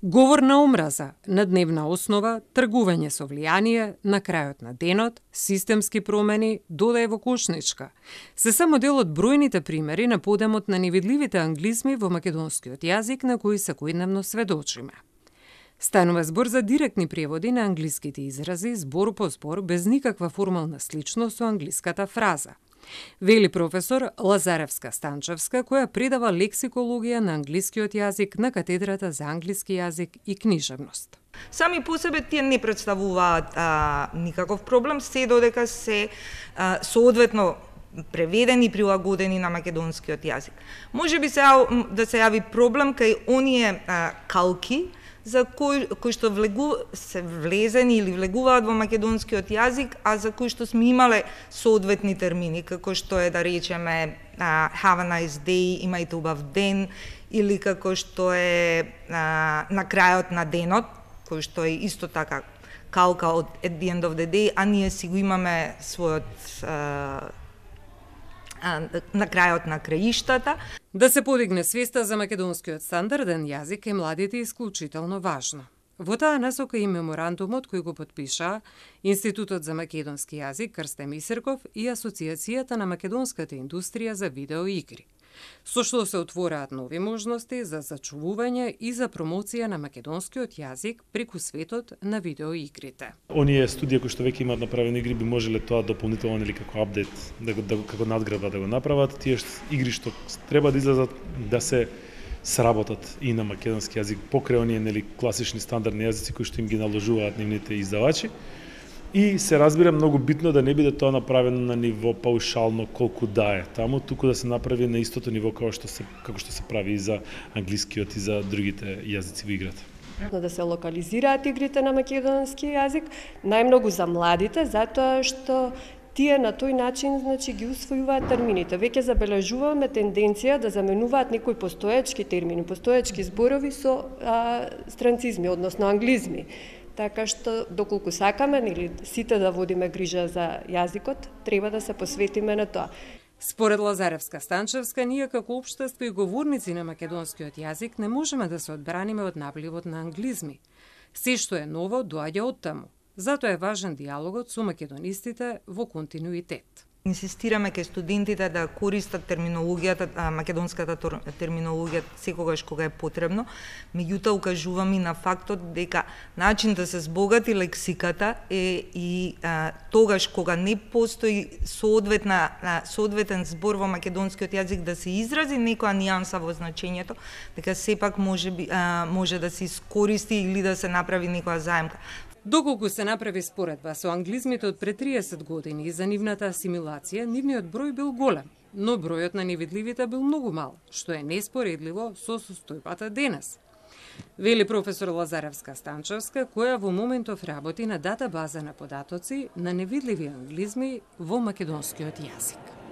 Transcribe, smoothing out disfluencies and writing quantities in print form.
Говор на омраза, на дневна основа, тргување со влијание, на крајот на денот, системски промени, додај во кошничка. Се само дел од бројните примери на подемот на невидливите англизми во македонскиот јазик на кои секојдневно сведочиме. Станува збор за директни преводи на англиските изрази збор по збор без никаква формална сличност со англиската фраза. Вели професор Лазаревска-Станчевска, која предава лексикологија на англискиот јазик на катедрата за англиски јазик и книжевност. Сами по себе тие не представуваат никаков проблем, се додека се соодветно преведени и прилагодени на македонскиот јазик. Може би да се јави проблем кај оние калки за кои што се влезени или влегуваат во македонскиот јазик, а за кои што сме имале соодветни термини, како што е, да речеме, have a nice day, имајте убав ден, или како што е на крајот на денот, кој што е исто така калка од at the end of the day, а ние си го имаме својот на крајот на краиштата. Да се подигне свеста за македонскиот стандарден јазик е младите исклучително важно. Во таа насока и меморандумот кој го подпиша Институтот за македонски јазик Крстен Мисерков и Асоциацијата на македонската индустрија за видеоигри, со што се отвораат нови можности за зачувување и за промоција на македонскиот јазик преку светот на видеоигрите. Оние студија кои што веќе имаат направени игри би можеле тоа дополнително или како апдейт, како надградба да го направат. Тие игри што треба да излезат да се сработат и на македонски јазик покрај оние класични стандардни јазици кои што им ги наложуваат нивните издавачи. И се разбира многу битно да не биде тоа направено на ниво паушално колку да е таму, туку да се направи на истото ниво како што се прави и за англискиот и за другите јазици во играта. Да се локализираат игрите на македонски јазик, најмногу за младите, затоа што тие на тој начин ги усвојуваат термините. Веќе забележуваме тенденција да заменуваат некои постоечки термини, постоечки зборови со странцизми, односно англизми. Така што, доколку сакаме, или сите да водиме грижа за јазикот, треба да се посветиме на тоа. Според Лазаревска-Станчевска, ние како општество и говорници на македонскиот јазик не можеме да се одбраниме од напливот на англизми. Се што е ново доаѓа од таму. Затоа е важен диалогот со македонистите во континуитет. Инсистираме кај студентите да користат терминологијата, македонската терминологија секогаш кога е потребно, меѓутоа укажуваме на фактот дека начин да се збогати лексиката е и тогаш кога не постои соодветен збор во македонскиот јазик да се изрази некоја нијанса во значењето, дека сепак може да се искористи или да се направи некоја заемка. Доколку се направи споредба со англизмите од пред 30 години и за нивната асимилација, нивниот број бил голем, но бројот на невидливите бил многу мал, што е неспоредливо со состојбата денес. Вели професор Лазаревска-Станчевска, која во моментов работи на датабаза на податоци на невидливи англизми во македонскиот јазик.